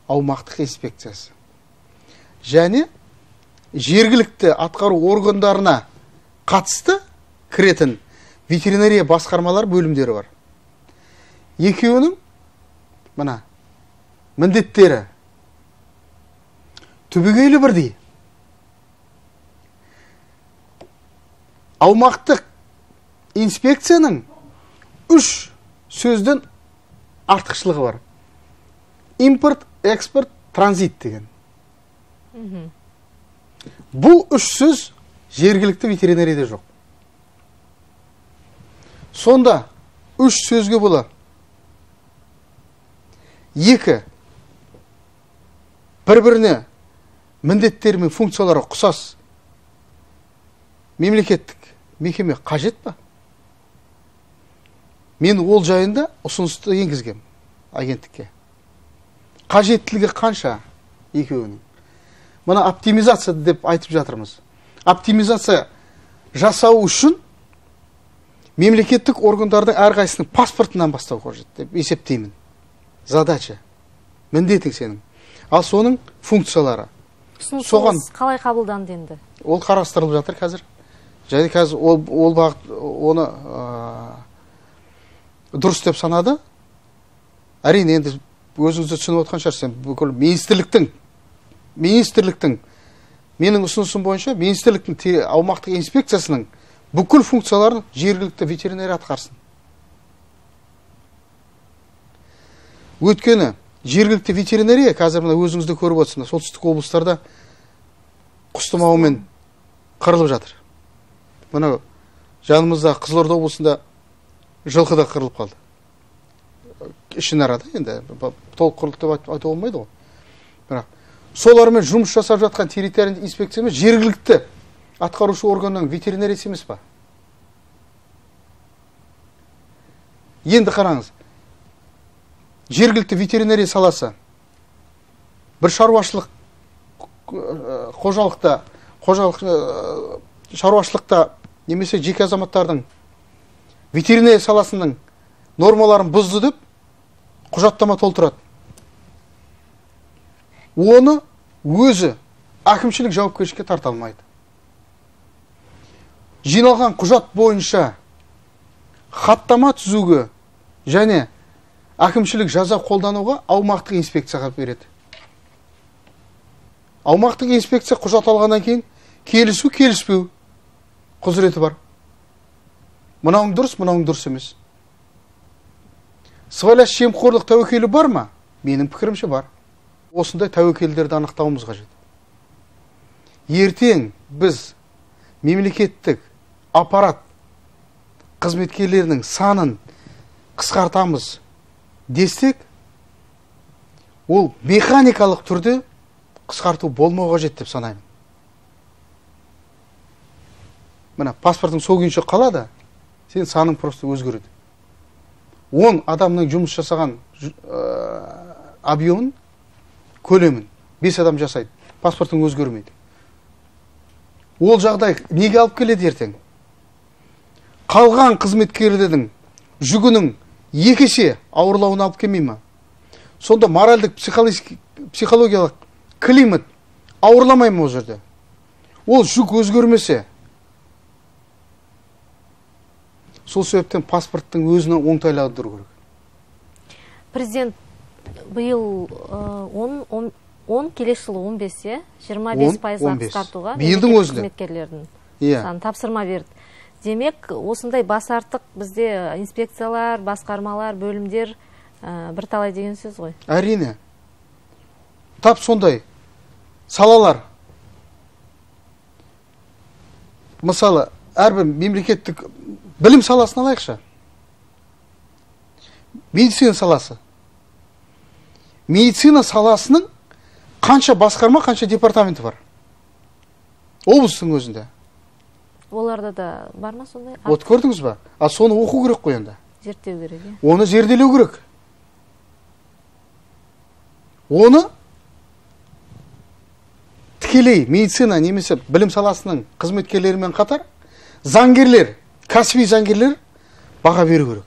аумақтық инспекциясы. Және жергілікті атқару органдарына қатысты кіретін ветеринария басқармалар бөлімдері бар. Екеуінің мына міндеттері түбегейлі бірдей. Аумақтық инспекцияның 3 сөзден артықшылығы бар. Импорт, экспорт, транзит деген. Бұл 3 сөз жергілікті ветеринарияда жоқ. Сонда 3 сөзге бола 2 бір-біріне міндеттері мен функциялары ұқсас мемлекеттік мекеме қажет па? Мен ол жайында ұсынысты енгізгем агенттікке. Қажеттілігі қанша екеуінің? Мұны оптимизация деп айтып жатырмыз. Оптимизация жасау үшін мемлекеттік органдардың әрқайсының паспортынан бастау қажет деп есептеймін. Задача, міндетің сенің. Ал соның функциялары. Соған қалай қабылданды енді? Ол қарастырылып жатыр қазір. Және қазір ол бағыт оны дұрыс деп санады. Әрине енді өзіңізді түсініп отқан шығарсыз, бүкіл министрліктің менің ұсынысым бойынша министрліктің аумақтық инспекциясының бүкіл функцияларын жергілікті ветеринария атқарсын. Өйткені жергілікті ветеринария қазір мына өзіңізді көріп отырсыз, солтүстік облыстарда құс тұмауымен қырылып жатыр. Мына жанымызда Қызылорда облысында жылқы да қырылып қалды. Ішінарада енді толық қырылды деп айтуға болмайды ғой. Бірақ солармен жұмыс жасап жатқан территориялық инспекция емес, жергілікті атқарушы органның ветеринариясы емес па? Енді қараңыз. Жергілікті ветеринария саласы бір шаруашылықта немесе жеке азаматтардың ветеринария саласының нормаларын бұзды деп құжаттама толтырады. Оны өзі әкімшілік жауапкершілікке тарта алмайды. Жиналған құжат бойынша хаттама түзуге және әкімшілік жаза қолдануға аумақтық инспекцияға береді. Аумақтық инспекция құжат алғаннан кейін келісу, келіспеу құзыреті бар. Мынауың дұрыс емес. Сыбайлас жемқорлық тәуекелі бар ма? Менің пікірімше бар. Осындай тәуекелдерді анықтауымыз қажет. Ертең біз мемлекеттік аппарат қызметкерлерінің санын қысқартамыз десек, ол механикалық түрде қысқарту болмау қажет деп санаймын. Мына паспортың сол күйінше қалады, сен саның просто өзгереді. 10 адамның жұмыс жасаған объемын, көлемін 5 адам жасайды, паспортың өзгермейді. Ол жағдай неге алып келеді ертең? Қалған қызметкерлердің жүгінің 2 есе ауырлауына алып келмей ма? Сонда моральдық, психологиялық климат ауырламай ма ол жерде? Ол жүк өзгермесе, сол себептен паспорттың өзінің оңтайлығы тұру керек. Президент биыл 10, келесі жылы 15, 25%-ға қысқартуға қызметкерлердің санын тапсырма берді. Демек, осындай бас артық бізде инспекциялар, басқармалар, бөлімдер бірталай деген сөз ғой. Әрине. Тап сондай салалар. Мысалы, әрбір мемлекеттік білім саласын алайықшы. Медицина саласы. Медицина саласының қанша басқарма, қанша департаменті бар? Облыстың өзінде. Оларда да бар ма сондай? Вот көрдіңіз ба? А соны оқу керек қой енді. Зерттеу керек. Оны зерделеу керек. Оны тікелей медицина немесе білім саласының қызметкерлерімен қатар заңгерлер, кәсіби заңгерлер баға беру керек.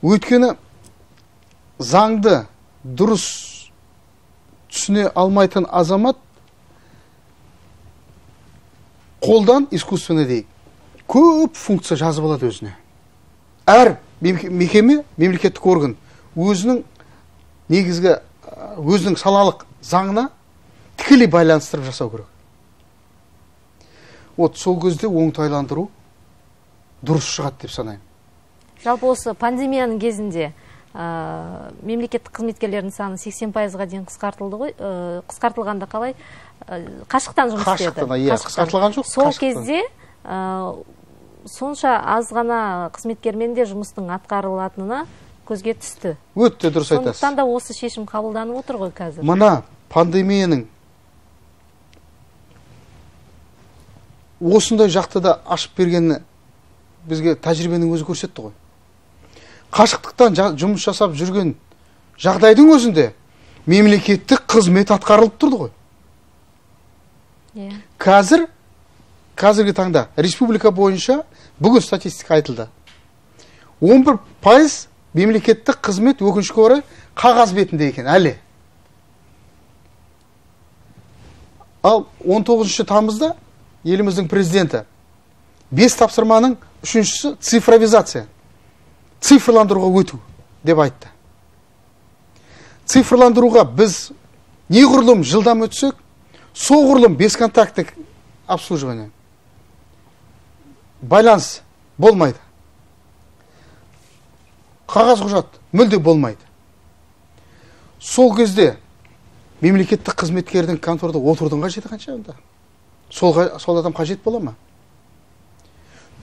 Өйткені заңды дұрыс түсіне алмайтын азамат қолдан искусственно дейік көп функция жазып алады өзіне. Әр мекеме, мемлекеттік орган өзінің негізгі өзінің салалық заңына тікелей байланыстырып жасау керек. Вот сол кезде оңтайландыру дұрыс шығады деп санаймын. Жалпы осы пандемияның кезінде мемлекеттік қызметкерлердің саны 80%-ға дейін қысқартылды ғой. Қысқартылғанда қалай? Қашықтан жұмыс істеді. Қысқартылған жоқ. Сол кезде сонша аз ғана қызметкермен де жұмыстың атқарылатынына көзге түсті. Өтті, дұрыс айтасыз. Сондықтан да осы шешім қабылданып отыр ғой қазір. Мына пандемияның осындай жақты да ашып бергені бізге тәжірибенің өзі көрсетті ғой. Қашықтықтан жұмыс жасап жүрген жағдайдың өзінде мемлекеттік қызмет атқарылып тұрды ғой. Қазіргі таңда республика бойынша бүгін статистика айтылды. 11% мемлекеттік қызмет өкінішке орай қағаз бетінде екен әлі. Ал 19 тамызда еліміздің президенті 5 тапсырманың 3-шісі цифровизация, цифрландыруға өту деп айтты. Цифрландыруға біз неғұрлым жылдам өтсек, соғұрлым бесконтакттік обслуживание, байланыс болмайды. Қағаз құжат мүлде болмайды. Сол кезде мемлекеттік қызметкердің конторда отырудың қажеті қанша онда? Сол адам қажет бола ма?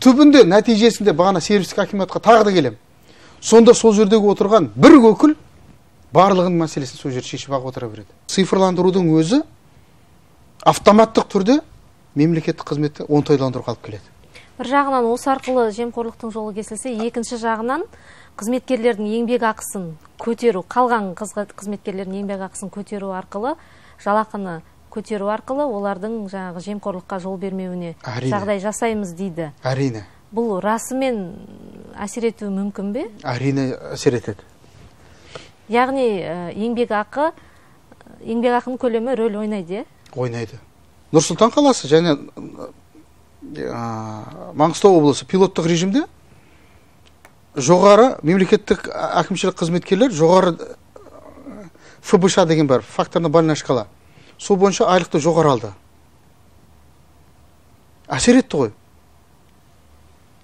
Түбінде нәтижесінде бағана сервистік акиматқа тағы да келем. Сонда сол жердегі отырған бір өкіл барлығын мәселесін сол жерде шешіп ақ отыра береді. Цифрландырудың өзі автоматтық түрде мемлекеттік қызметті оңтайландыруға алып келеді. Бір жағынан осы арқылы жемқорлықтың жолы кесілсе, екінші жағынан қызметкерлердің еңбек ақысын көтеру, қалған қызметкерлердің еңбек ақысын көтеру арқылы, жалақыны көтеру арқылы олардың жаңағы жемқорлыққа жол бермеуіне жағдай жасаймыз дейді. Әрине. Бұл расымен әсер етуі мүмкін бе? Әрине әсер етеді. Яғни еңбек ақының көлемі рөл ойнайды? Ойнайды. Нұр-Сұлтан қаласы және Маңғыстау облысы пилоттық режимде жоғары мемлекеттік әкімшілік қызметкерлер жоғары ФБШ деген бар, факторно-бальная шкала. Сол бойынша айлықты жоғары алды. Әсер етті ғой.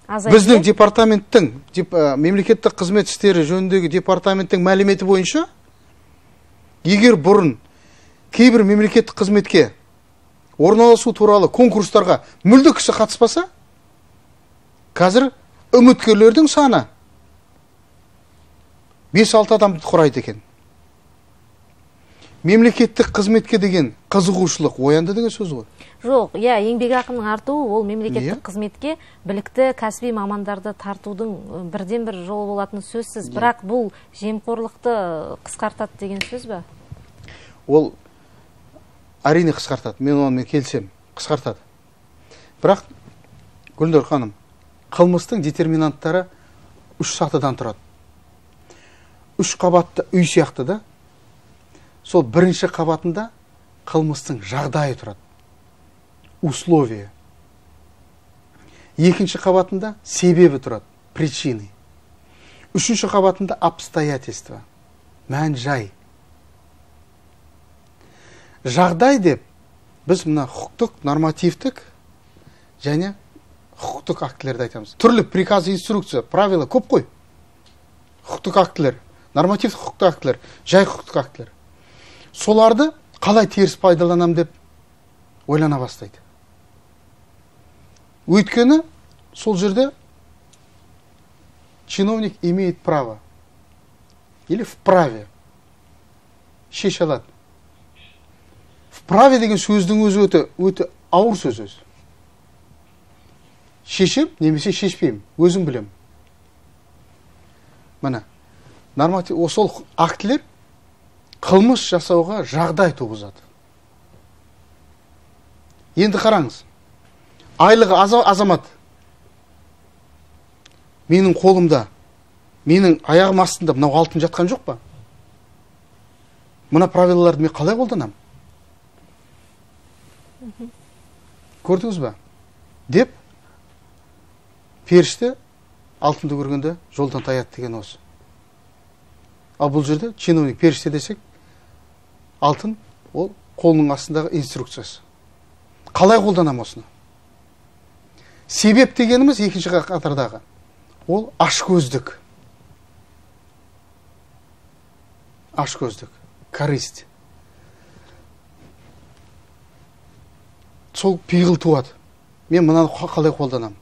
Біздің департаменттің, мемлекеттік қызмет істері жөніндегі департаменттің мәліметі бойынша, егер бұрын кейбір мемлекеттік қызметке орналасу туралы конкурстарға мүлде кісі қатыспаса, қазір үміткерлердің саны 5-6 адамды құрайды екен. Мемлекеттік қызметке деген қызығушылық оянды деген сөз ғой. Жоқ, еңбек ақының артуы ол мемлекеттік қызметке білікті кәсіби мамандарды тартудың бірден-бір жолы болатын сөзсіз. Бірақ бұл жемқорлықты қысқартады деген сөз бе? Ол әрине қысқартады. Мен онымен келсем, қысқартады. Бірақ, Гүлнұр ханым, қылмыстың детерминанттары 3 сатыдан тұрады. 3 қабатты үй сияқты да, сол бірінші қабатында қылмыстың жағдайы тұрады. Условия. Екінші қабатында себебі тұрады. Причины. Үшінші қабатында обстоятельства. Мән жай. Жағдай деп біз мына құқықтық, нормативтік және құқықтық актілерді айтамыз. Түрлі приказ, инструкция, правила көп қой. Құқықтық актілер, нормативтік құқықтық актілер, жай құқықтық актілер. Соларды қалай теріс пайдаланам деп ойлана бастайды. Өйткені сол жерде чиновник имеет право или вправе шеше алады. Вправе деген сөздің өзі өте ауыр сөз өзі. Шешем немесе шешпеймін, өзім білем. Мына норматив сол актілер қылмыс жасауға жағдай туғызады. Енді қараңыз. Айлығы азамат менің қолымда, менің аяғым астында мынау алтын жатқан жоқ па? Мына правилаларды мен қалай қолданамын? Көрдіңіз ба? Деп, періште алтынды көргенде жолдан таяды деген осы. Ал бұл жерде чиновник періште десек, алтын ол қолының астындағы инструкциясы. Қалай қолданам осыны? Себеп дегеніміз екінші қатардағы. Ол ашкөздік. Ашкөздік, корысть. Сол пиғыл туады. Мен мынаны қалай қолданам?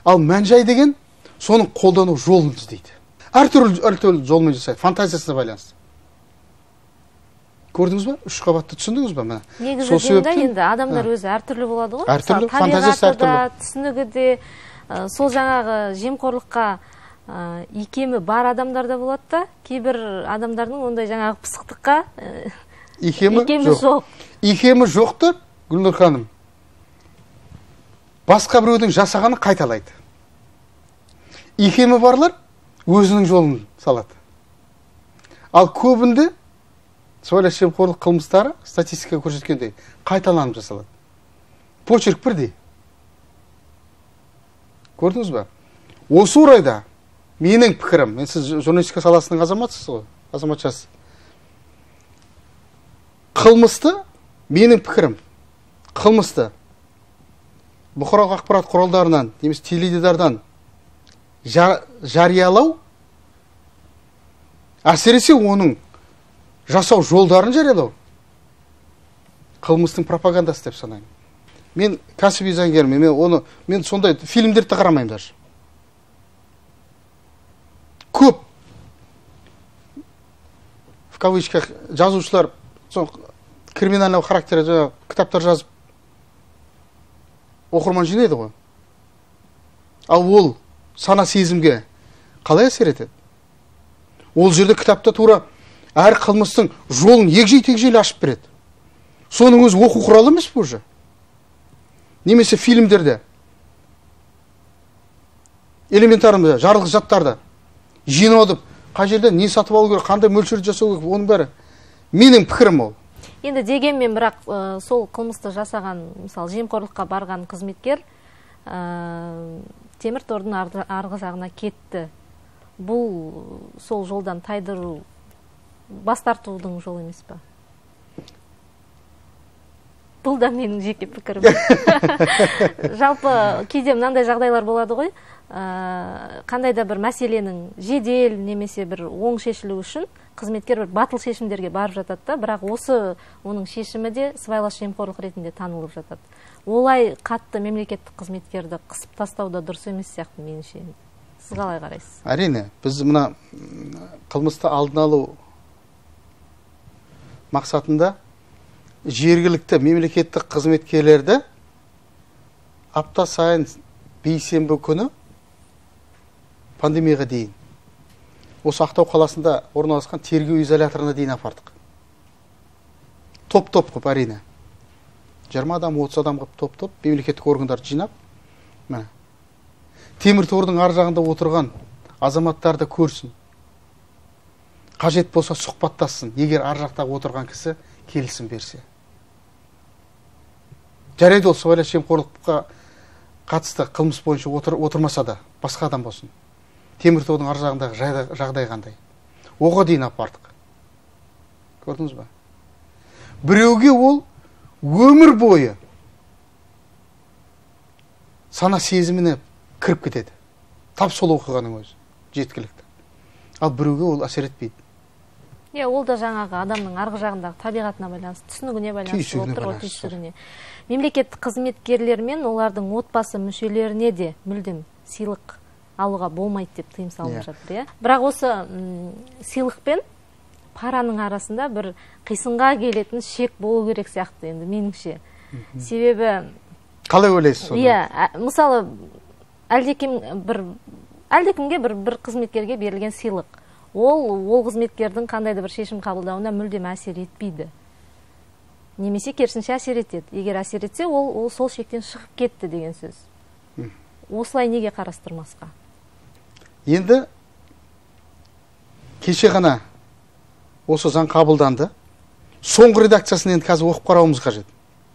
Ал мән-жай деген соның қолдану жолын іздейді. Әртүрлі жолмен жасайды, фантазиясына байланысты. Көрдіңіз ба? Үш қабатты түсіндіңіз ба? Негізі енді адамдар өзі әртүрлі болады ғой. Әртүрлі, фантазиясы әртүрлі. Түсінігі де, сол жаңағы жемқорлыққа икемі бар адамдарда болады да, кейбір адамдардың ондай жаңағы пысықтыққа икемі жоқ. Икемі жоқты, Гүлнұр ханым, басқа біреудің жасағаны қайталайды. Икемі барлар өзінің жолын салады. Ал көбінде сыбайлас жемқорлық қылмыстары статистика көрсеткендей қайталанып жасалады. Почерк бірдей. Көрдіңіз ба? Осы орайда менің пікірім, мен сіз журналистика саласының азаматсыз ғой, азаматшасыз. Қылмысты, менің пікірім, қылмысты бұқаралық ақпарат құралдарынан, немесе теледидардан жариялау, әсіресе оның жасау жолдарын жариялау қылмыстың пропагандасы деп санаймын. Мен кәсіби заңгермін, мен сондай фильмдерді қарамаймын даже. Көп в кавычках жазушылар криминальный характері кітаптар жазып оқырман жинайды ғой. Ал ол сана сезімге қалай әсер етеді? Ол жерде кітапта тура әр қылмыстың жолын егжей-тегжейлі ашып береді. Соның өзі оқу құралы емес пе уже? Немесе фильмдерде, элементарный жарылғыш заттарды жинауды, қай жерде не сатып алу керек, қандай мөлшерде жасау керек, оның бәрі менің пікірім ол. Енді дегенмен бірақ сол қылмысты жасаған, мысалы, жемқорлыққа барған қызметкер темір тордың арғы жағына кетті. Бұл сол жолдан тайдыру, бас тартудың жолы емес па? Бұл да менің жеке пікірім. Жалпы кейде мынандай жағдайлар болады ғой, қандай да бір мәселенің жедел немесе бір оң шешілу үшін қызметкер бір батыл шешімдерге барып жатады да, бірақ осы оның шешімі де сыбайлас жемқорлық ретінде танылып жатады. Олай қатты мемлекеттік қызметкерді қысып тастауда дұрыс емес сияқты меніңше. Сіз қалай қарайсыз? Әрине, біз мына қылмысты алдын алу мақсатында жергілікті мемлекеттік қызметкерлерді апта сайын бейсенбі күні пандемияға дейін осы Ақтау қаласында орналасқан тергеу изоляторына дейін апардық. Топ-топ қып, әрине. 20 адам, 30 адам қып, топ-топ мемлекеттік органдарды жинап, темір тордың ар жағында отырған азаматтарды көрсін. Қажет болса сұхбаттассын, егер ар жақтағы отырған кісі келісім берсе. Жарайды, ол сыбайлас жемқорлыққа қатысты қылмыс бойынша отырмаса да, басқа адам болсын. Темір тордың ар жағындағы жағдай қандай. Оға дейін апардық. Көрдіңіз ба? Біреуге ол өмір бойы сана сезіміне кіріп кетеді. Тап сол оқығаның өзі, жеткілікті. Ал біреуге ол әсер етпейді. Ол да жаңағы адамның арғы жағындағы табиғатына байланысты, түсінігіне байланысты отыр, түйсігіне. Мемлекеттік қызметкерлер мен олардың отбасы мүшелеріне де мүлдем сыйлық алуға болмайды деп тыйым салынып жатыр. Бірақ осы сыйлық пен параның арасында бір қисынға келетін шек болу керек сияқты енді меніңше. Себебі қалай ойлайсыз соны? Мысалы, әлдекімге бір қызметкерге берілген сыйлық. Ол қызметкердің қандайды бір шешім қабылдауына мүлдем әсер етпейді. Немесе керісінше әсер етеді. Егер әсер етсе, ол сол шектен шығып кетті деген сөз. осылай неге қарастырмасқа? Енді кеше ғана осы заң қабылданды. Соңғы редакциясын енді қазір оқып қарауымыз қажет.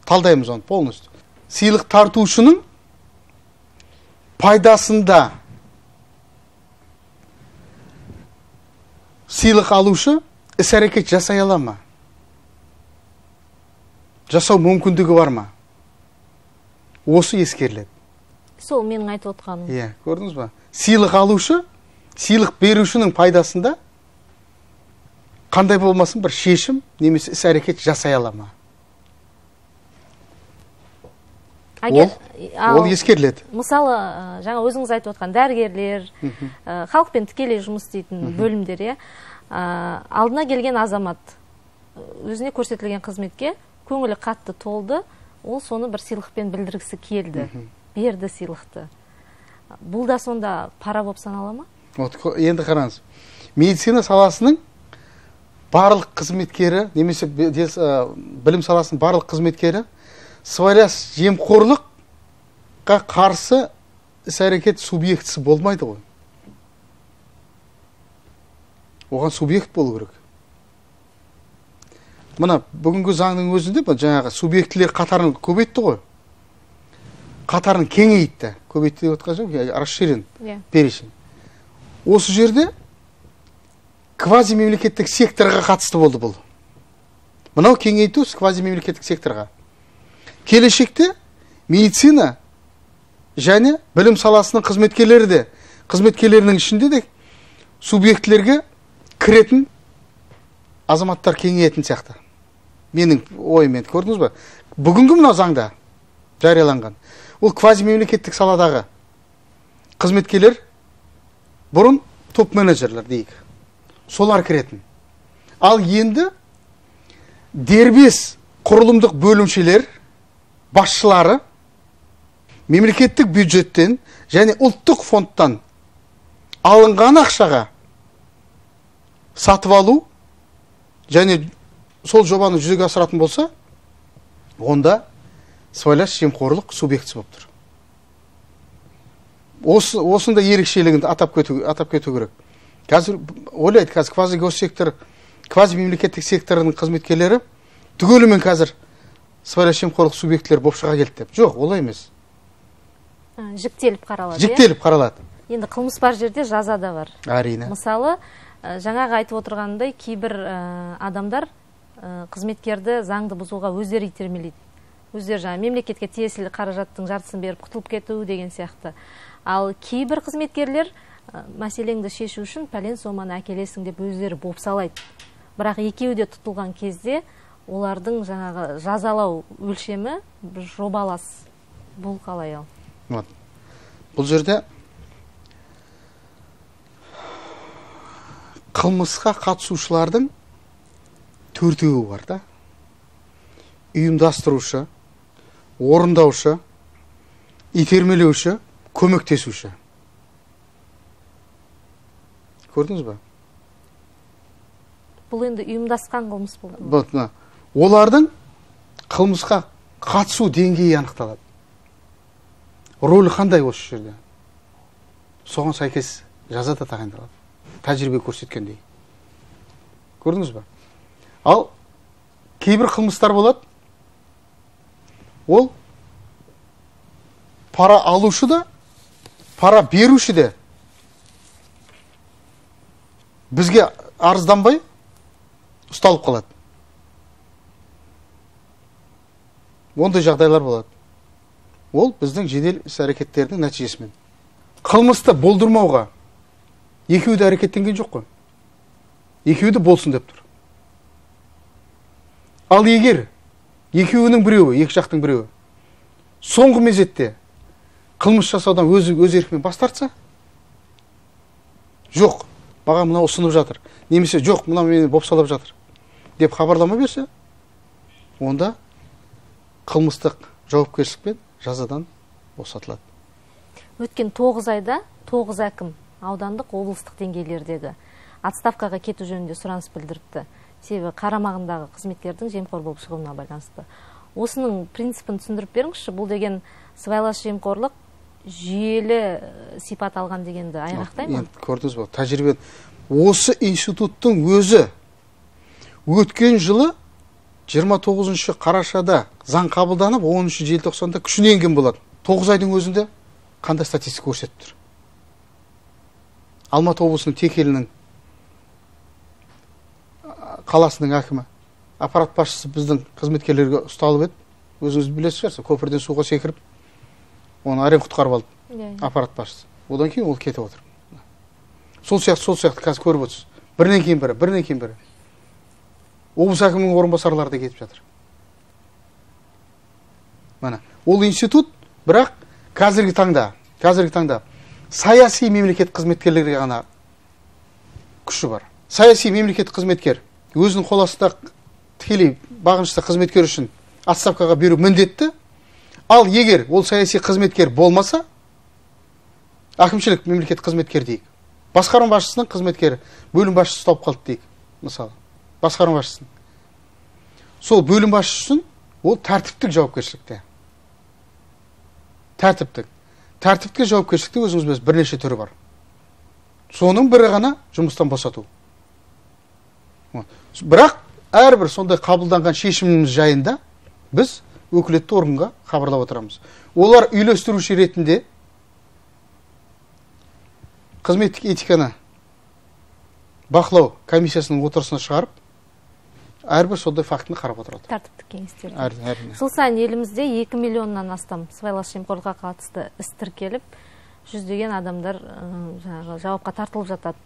Талдаймыз оны полностью. Сыйлық тартушының пайдасында сыйлық алушы іс-әрекет жасай ала ма? Жасау мүмкіндігі бар ма? Осы ескеріледі. Сол менің айтып отқаным. Иә, көрдіңіз ба? Сыйлық алушы, сыйлық берушінің пайдасында қандай болмасын бір шешім немесе іс-әрекет жасай ала ма? Ол ескеріледі. Мысалы, жаңа өзіңіз айтып отқан дәрігерлер, халықпен тікелей жұмыс істейтін бөлімдер, алдына келген азамат өзіне көрсетілген қызметке көңілі қатты толды, ол соны бір сыйлықпен білдіргісі келді, берді сыйлықты. Бұл да сонда пара болып санала ма? Енді қараңыз, медицина саласының барлық қызметкері, немесе білім саласының барлық қызметкері сыбайлас жемқорлыққа қарсы іс-әрекет субъектісі болмайды ғой. Оған субъект болу керек. Мына бүгінгі заңның өзінде жаңағы субъектілер қатарын көбейтті ғой. Қатарын кеңейтті. Көбейтті деп отқан жоқ, расширен перечень. Осы жерде квазимемлекеттік секторға қатысты болды бұл. Мынау кеңейту квазимемлекеттік секторға. Келешекте медицина және білім саласының қызметкерлері де, қызметкерлерінің ішінде де субъектілерге кіретін азаматтар кеңейетін сияқты. Менің ойыммен, көрдіңіз ба? Бүгінгі мынау заңда жарияланған. Ол квазимемлекеттік саладағы қызметкерлер, бұрын топ-менеджерлер дейік. Солар кіретін. Ал енді дербес құрылымдық бөлімшелер, басшылары мемлекеттік бюджеттен және ұлттық фондтан алынған ақшаға сатып алу және сол жобаны жүзеге асыратын болса, онда сыбайлас жемқорлық субъектісі болып тұр. Осында ерекшелігін атап кету керек. Қазір ойлайды, қазір квази-госсектор, квази-мемлекеттік секторының қызметкерлері түгелімен қазір сыбайлас жемқорлық субъектілер болып шыға келді деп. Жоқ, олай емес. Жіктеліп қаралады. Жіктеліп қаралады. Енді қылмыс бар жерде жаза да бар. Әрине. Мысалы, жаңағы айтып отырғандай, кейбір адамдар қызметкерді заңды бұзуға өздері итермелейді. Өздері жаңа мемлекетке тиесілі қаражаттың жартысын беріп құтылып кету деген сияқты. Ал кейбір қызметкерлер мәселеңді шешу үшін пәлен соманы әкелесің деп өздері бопсалайды. Бірақ екеуі де тұтылған кезде олардың жаңағы жазалау өлшемі жобалас. Бұл қалай ал? Бұл жерде қылмысқа қатысушылардың төртеуі бар да. Ұйымдастырушы, орындаушы, итермелеуші, көмектесуші. Көрдіңіз ба? Бұл енді ұйымдасқан қылмыс болды. Олардың қылмысқа қатысу деңгейі анықталады. Рөлі қандай осы жерде? Соған сәйкес жаза да тағайындалады. Тәжірибе көрсеткендей. Көрдіңіз ба? Ал кейбір қылмыстар болады. Ол пара алушы да, пара беруші де бізге арызданбай ұсталып қалады. Ондай жағдайлар болады. Ол біздің жедел іс-әрекеттердің нәтижесімен. Қылмысты болдырмауға екеуі де әрекеттенген жоқ қой. Екеуі де болсын деп тұр. Ал егер екеуінің біреуі, екі жақтың біреуі соңғы мезетте қылмыс жасаудан өз еркімен бас тартса, жоқ, маған мынау ұсынып жатыр, немесе жоқ, мынау мені бопсалап жатыр деп хабарлама берсе, онда қылмыстық жауапкершілікпен жазадан босатылады. Өткен 9 айда 9 әкім аудандық облыстық деңгейлердегі отставкаға кету жөнінде сұраныс білдіріпті. Себебі қарамағындағы қызметкердің жемқор болып шығуына байланысты. Осының принципін түсіндіріп беріңізші, бұл деген сыбайлас жемқорлық жүйелі сипат алған дегенді айғақтай ма? Көрдіңіз ба, тәжірибе. Осы институттың өзі өткен жылы 29 қарашада заң қабылданып, 10 желтоқсанда күшіне енген болады. 9 айдың өзінде қандай статистика көрсетіп тұр? Алматы облысының Текелінің қаласының әкімі, аппарат басшысы біздің қызметкерлерге ұсталып еді. Өзіңіз білесіз шығарсыз, көпірден суға секіріп, оны әрең құтқарып алды аппарат басшысы. Одан кейін ол кетіп отыр. Сол сияқты қазір көріп отырсыз. Бірінен кейін бірі. Облыс әкімінің орынбасарлары да кетіп жатыр. Мына, ол институт, бірақ қазіргі таңда саяси мемлекет қызметкерлерге ғана күші бар. Саяси мемлекет қызметкер өзінің қол астында тікелей бағынышты қызметкер үшін отставкаға беру міндетті. Ал егер ол саяси қызметкер болмаса, әкімшілік мемлекет қызметкер дейік. Басқарма басшысының қызметкері, бөлім басшысы ұсталып қалды дейік. Мысалы, басқарма басшысының. Сол бөлім басшысын ол тәртіптік жауапкершілікте. Тәртіптік жауапкершілікте өзіңіз бірнеше түрі бар. Соның бірі ғана жұмыстан босату. Бірақ әрбір сондай қабылданған шешіміміз жайында біз өкілетті органға хабарлап отырамыз. Олар үйлестіруші ретінде қызметтік этиканы бақылау комиссиясының отырысына шығарып, әрбір сондай фактіні қарап отырады. Тәртіптік кеңестер. Жыл сайын елімізде 2 миллионнан астам сыбайлас жемқорлыққа қатысты іс тіркеліп, жүздеген адамдар жауапқа тартылып жатады.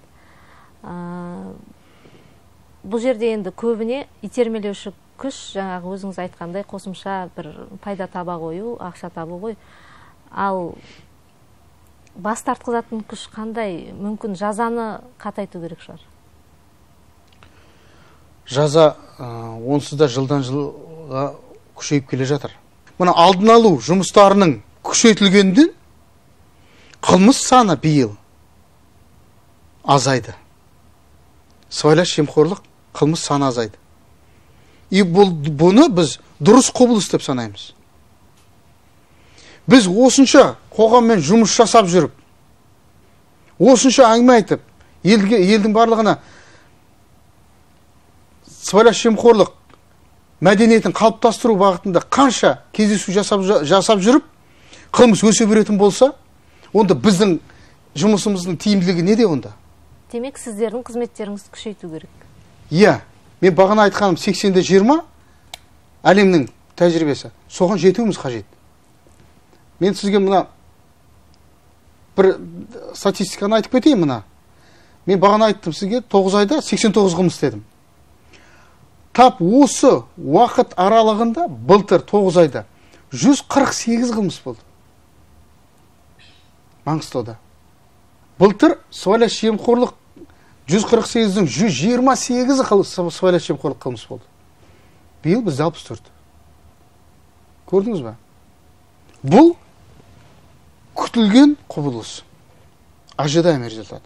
Бұл жерде енді көбіне итермелеуші күш, жаңағы өзіңіз айтқандай қосымша бір пайда таба қою, ақша табу ғой. Ал бас тартқызатын күш қандай? Мүмкін жазаны қатайту керек шығар. Жаза онсыз да жылдан жылға күшейіп келе жатыр. Мына алдын алу жұмыстарының күшейтілгенден қылмыс саны биыл азайды. Сыбайлас жемқорлық қылмыс саны азайды. И бұны біз дұрыс құбылыс деп санаймыз. Біз осынша қоғаммен жұмыс жасап жүріп, осынша әңгіме айтып, елдің барлығына сыбайлас жемқорлық мәдениетін қалыптастыру бағытында қанша кездесу жасап жүріп, қылмыс өсе беретін болса, онда біздің жұмысымыздың тиімділігі неде онда? Демек, сіздердің қызметтеріңізді күшейту керек. Иә, мен бағана айтқаным 80-де 20 әлемнің тәжірибесі. Соған жетуіміз қажет. Мен сізге мына бір статистиканы айтып кетейін мына. Мен бағана айттым сізге 9 айда 89 қылмыс дедім. Тап осы уақыт аралығында былтыр 9 айда 148 қылмыс болды. Маңғыстауда. Былтыр сыбайлас жемқорлық 148-дің 128-і сыбайлас жемқорлық қылмыс болды. Биыл бізде 64. Көрдіңіз ба? Бұл күтілген құбылыс. Ожидаемый результат.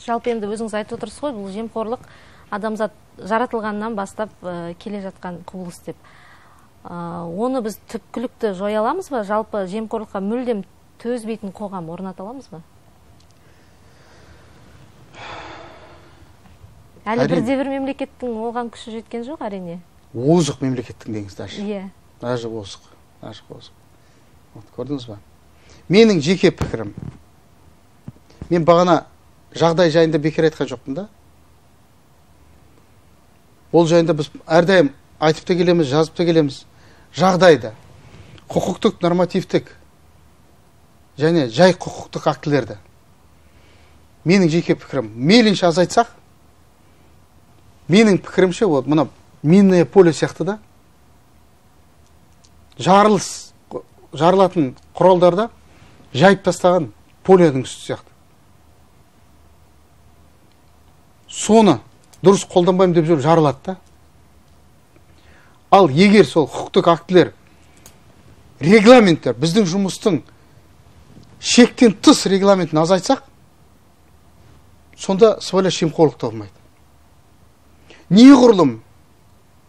Жалпы енді өзіңіз айтып отырсыз ғой, бұл жемқорлық адамзат жаратылғаннан бастап келе жатқан құбылыс деп. Оны біз түпкілікті жоя аламыз ба? Жалпы жемқорлыққа мүлдем төзбейтін қоғам орната аламыз ба? Әлі бірде-бір мемлекеттің оған күші жеткен жоқ, әрине. Озық мемлекеттің деңіз даже. Иә. Даже озық. Көрдіңіз ба? Менің жеке пікірім. Мен бағана жағдай жайында бекер айтқан жоқпын да. Ол жайында біз әрдайым айтып та келеміз, жазып та келеміз. Жағдайды, құқықтық, нормативтік және жай құқықтық актілерді. Менің жеке пікірім, мейлінше азайтсақ, менің пікірімше, мына минное поле сияқты да, жарылатын құралдарда жайып тастаған поледің үсті сияқты. Соны дұрыс қолданбаймын деп жүріп жарылады да. Ал егер сол құқықтық актілер, регламенттер, біздің жұмыстың шектен тыс регламентін азайтсақ, сонда сыбайлас жемқорлық та болмайды. Неғұрлым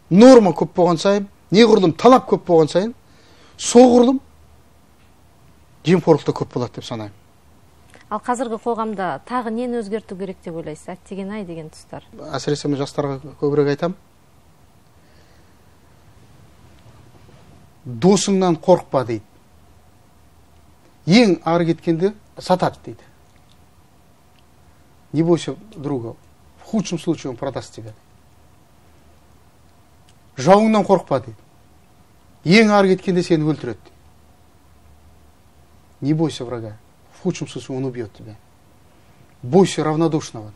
норма көп болған сайын, неғұрлым талап көп болған сайын, соғұрлым жемқорлық та көп болады деп санаймын. Ал қазіргі қоғамда тағы нені өзгерту керек деп ойлайсыз? Әттеген-ай деген тұстар. Әсіресе мен жастарға көбірек айтам. Досыңнан қорықпа дейді. Ең ары кеткенде сатады дейді. Не бойся друга. В худшем случае он продаст тебя. Жауыңнан қорықпа дейді. Ең ары кеткенде сені өлтіреді. Не бойся врага. В худшем случае он убьет тебя. Бойся равнодушного.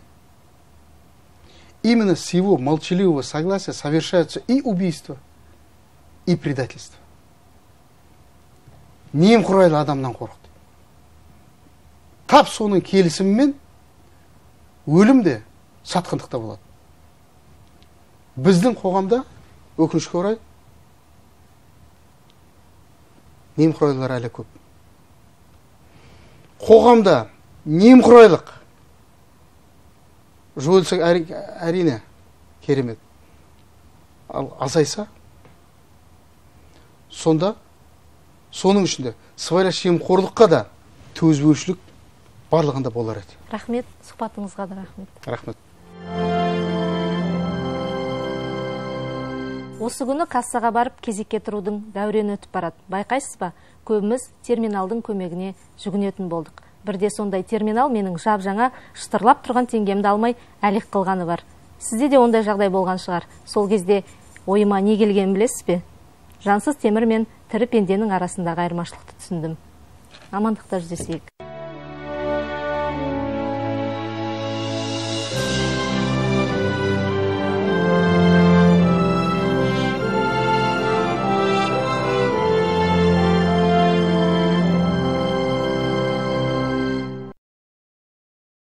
Именно с его молчаливого согласия совершаются и убийства, и предательство. Немқұрайлы адамнан қорықты. Тап соның келісімімен өлім де сатқындықта болады. Біздің қоғамда өкінішке орай немқұрайлылар әлі көп. Қоғамда немқұрайлық жойылса әрине керемет. Ал азайса, сонда соның ішінде сыбайлас жемқорлыққа да төзбеушілік барлығында болар еді. Рахмет, сұхбатыңызға да рахмет. Рахмет. Осы күні кассаға барып кезекке тұрудың дәурені өтіп барады. Байқайсыз ба? Көбіміз терминалдың көмегіне жүгінетін болдық. Бірде сондай терминал менің жап-жаңа шытырлап тұрған теңгемді алмай әлек қылғаны бар. Сізде де ондай жағдай болған шығар. Сол кезде ойыма не келгенін білесіз бе? Жансыз темір мен тірі пенденің арасындағы айырмашылықты түсіндім. Амандықта жүздесейік.